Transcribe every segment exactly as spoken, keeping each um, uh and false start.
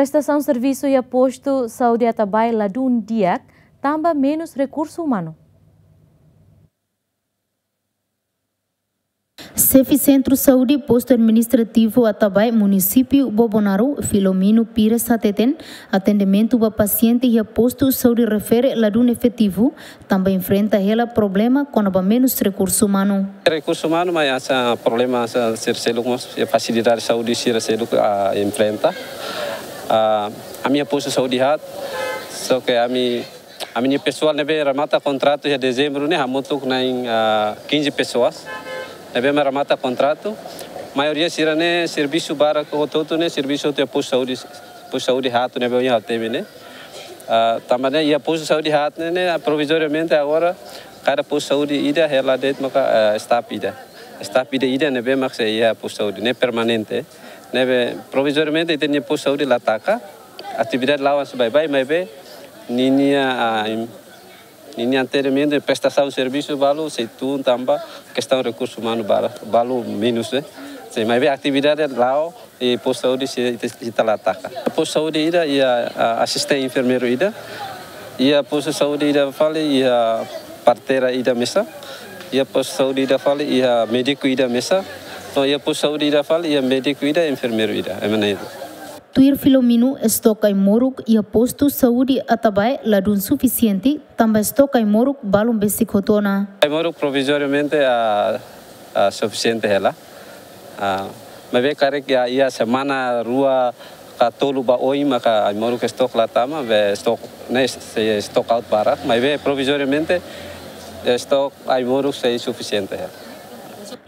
Prestasaun servisu iha postu saúde Atabae ladún di'ak tanba menus rekursu umanu. Xefe Sentru Saúde Postu Administrativu Atabae, Munisípiu Bobonaro, Filomeno Pires hateten, atendimentu ba pasiente iha postu saúde refere ladún efetivu, tanba enfrenta hela problema kona-ba menus rekursu umanu. Rekursu umanu, mas hanesan problema hanesan sira seluk mós, iha fasilidade saúde sira seluk, ah, enfrenta. Ah, ami iha postu saúde haat, só ke ami, ami-nia pesoál ne'ebé remata kontratu iha dezembru ne'e hamutuk na'in, ah, quinze pessoas. Ne'ebé mak remata kontratu, maioria sira-ne'e servisu barak hotu-hotu ne'e servisu hotu iha postu saúde, postu saúde haat ne'ebé ohin ha'u temi ne'e. Ah, tanba ne'e iha postu saúde haat ne'e, ne'e, ah, provizoriamente agora kada postu saúde ida hela de'it maka, ah, staff ida. Staff ida-ida ne'ebé mak sei iha postu saúde ne'e permanente. Ne'ebé provizoriamente ita-nia postu saúde la taka. Atividade la'o hanesan baibain, maibé ninia, ah, im-, ninia atendimentu, prestasaun servisu balu sei tun tanba kestaun rekursu umanu balu, balu menus, eh. Sei, maibé atividade la'o, iha postu saúde sei, sei, sei la taka. Postu saúde ida iha, ah, asistente enfermeiru ida. Iha postu saúde ida fali iha parteira ida mesak. Iha postu saúde ida fali iha médiku ida mesak. No iha postu saúde ida fali iha médiku ida, enfermeiru ida. Ema na'in-rua. Tuir Filomeno, estok ai-moruk iha postu saúde Atabae ladún sufisiente, tanba estok ai-moruk balun besik hotu ona. Ai-moruk provizoriamente, ah, ah, sufisiente hela. Ah, maibé karik iha, iha semana rua ka tolu ba oin maka ai-moruk estok la tama, be estok ne'e sei stock out barak, maibé provizoriamente estok ai-moruk sei sufisiente hela.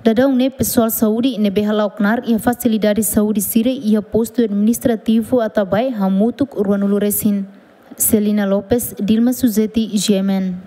Daudaun ne'e pesoál saúde ne'ebé hala'o knaar iha fasilidade saúde sira iha postu administrativu Atabae hamutuk ruanulu resin. Celina Lopes, Dilma Suzeti, G M N.